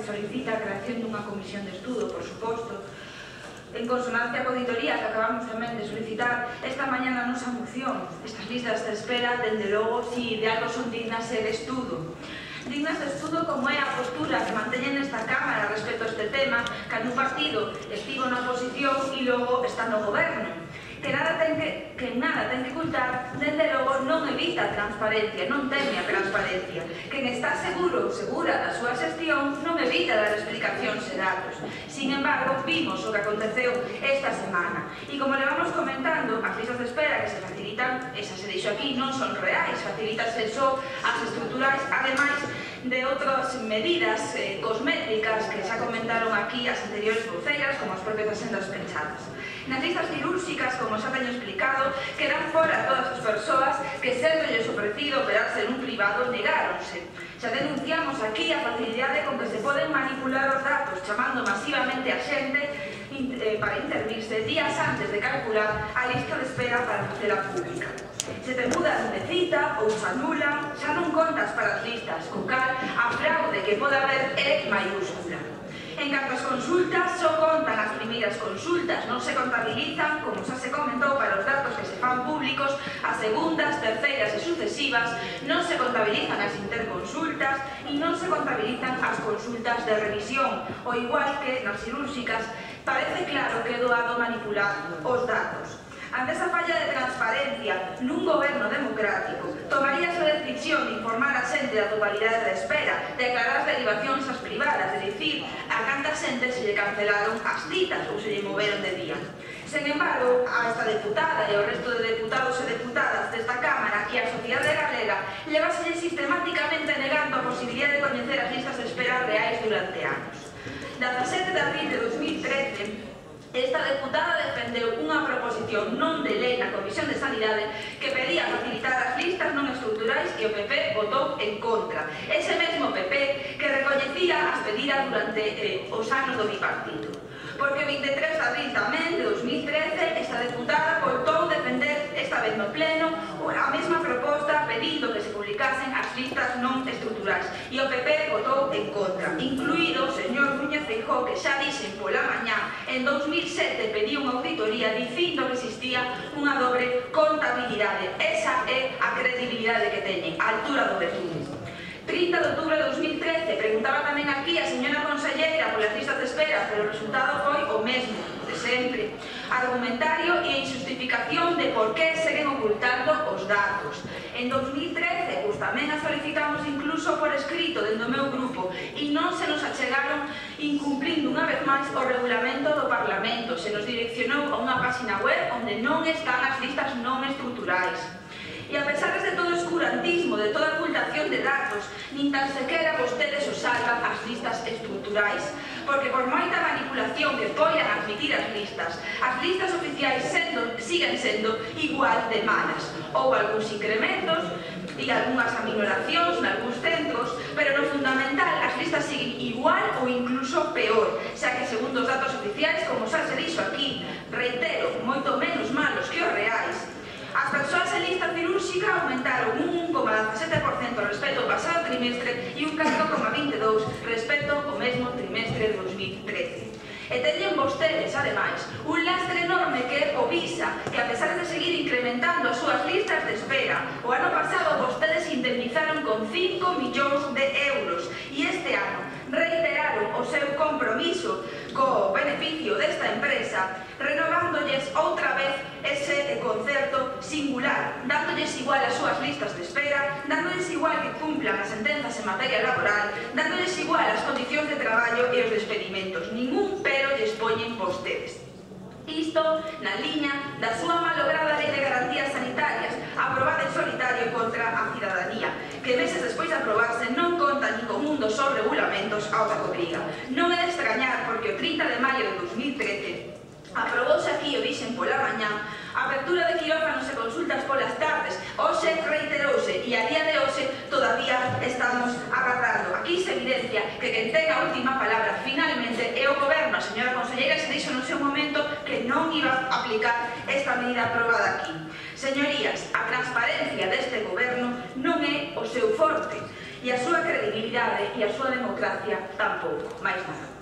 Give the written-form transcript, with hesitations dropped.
que solicita a creación dunha comisión de estudo, por suposto, en consonancia coa auditoría que acabamos tamén de solicitar esta mañá na nosa moción. Estas listas de espera, dende logo, si de algo son dignas de estudo. Dignas de estudo como é a postura que manteñen nesta Cámara respecto a este tema, que un partido estivo na oposición e logo está no goberno. Que nada ten que ocultar, dende logo non evita a transparencia, non teme a transparencia. Quen está seguro ou segura da súa xestión non evita dar explicacións e datos. Sin embargo, vimos o que aconteceu esta semana. E como le vamos comentando, as listas de espera que se facilitan, esa se dixo aquí, non son reais, facilitanse só as estruturais, ademais de outras medidas cosméticas que xa comentaron aquí as anteriores voceiras, como as propias asendas pensadas. Nas listas cirúrxicas, como xa teño explicado, quedan fora todas as persoas que, sendo lles ofrecido operarse nun privado, negáronse. Xa denunciamos aquí a facilidade con que se poden manipular os datos, chamando masivamente a xente para intervirse días antes de calcular a lista de espera para facela pública. Se te mudan de cita ou se anulan, xa non contas para as listas, co cal a fraude que pode haber é maiúscula. En canto as consultas, só contan as primeiras consultas, non se contabilizan, como xa se comentou, para os datos que se fan públicos, as segundas, terceiras e sucesivas, non se contabilizan as interconsultas e non se contabilizan as consultas de revisión, o igual que nas cirúrxicas, parece claro que é doado manipular os datos. Ante esa falla de transparencia nun goberno democrático, tomaríase a decisión de informar a xente da totalidade da espera, de aclarar as derivacións ás privadas, de dicir a canta xente se lle cancelaron as citas ou se lle moveron de día. Sen embargo, a esta deputada e ao resto de deputados e deputadas desta Cámara e a sociedade galega leváselle sistemáticamente negando a posibilidade de coñecer as listas de espera reais durante anos. 17 de abril de 2013, esta deputada defendeu unha proposición non de lei na Comisión de Sanidade que pedía facilitar as listas non estruturais e o PP votou en contra. Ese mesmo PP que recoñecía as pedidas durante os anos do bipartito. Porque o 23 de abril tamén de 2013 esta deputada voltou defender esta vez no pleno a mesma proposta pedindo que se publicasen as listas non estruturais e o PP votou en contra, incluído o señor Núñez Feijóo, que xa dixen pola mañá en 2007 pediu unha auditoría dicindo que existía unha dobre contabilidade. Esa é a credibilidade que teñen, a altura do perfume. 30 de outubro de 2013, preguntaba tamén aquí a señora conselleira polas listas de espera, pero o resultado foi o mesmo, de sempre. Argumentario e injustificación de por que seguen ocultando os datos. En 2013, pois tamén a solicitamos incluso por escrito dentro do meu grupo e non se nos achegaron incumplindo unha vez máis o regulamento do Parlamento. Se nos direccionou a unha página web onde non están as listas non estruturais. E a pesar de todo o escurantismo, de toda a ocultación de datos, nin tan sequera vostedes os salvan as listas estruturais, porque por moita manipulación que poian admitir as listas oficiais siguen sendo igual de malas. Houve algúns incrementos e algunhas aminoracións nalgúns centros, pero no fundamental as listas siguen igual ou incluso peor, xa que segundo os datos oficiais, como xa se dixo aquí, reitero, moito menos malos que os reais, as persoas en lista cirúrxica aumentaron un 1,17% respecto ao pasado trimestre e un 4,22% respecto ao mesmo trimestre de 2013. E teñen vostedes, ademais, un lastre enorme que é o Visa, que a pesar de seguir incrementando as súas listas de espera, o ano pasado vostedes indemnizaron con 5 millóns de euros e este ano reiteraron o seu compromiso co beneficio desta empresa, renovándoles outra vez ese concerto singular, dándolles igual as súas listas de espera, dándolles igual que cumplan as sentenzas en materia laboral, dándolles igual as condicións de traballo e os despedimentos. Ningún pero lles poñen vostedes. Isto na liña da súa malograda Lei de Garantías Sanitarias, aprobada en solitario contra a cidadanía, que meses despois de aprobarse non conta ni con un dos seus regulamentos ao que obriga. Non é de extrañar porque o 30 de maio de 2013 aprobouse aquí, o dixen pola mañá, a apertura de quirófanos e consultas polas tardes. Hoxe reiterouse e a día de hoxe todavía estamos agardando. Aquí se evidencia que quen ten a última palabra finalmente é o goberno. A señora conselleira se dixo no seu momento que non iba a aplicar esta medida aprobada aquí. Señorías, a transparencia deste goberno non é o seu forte. e a súa credibilidade e a súa democracia tampouco, máis nada.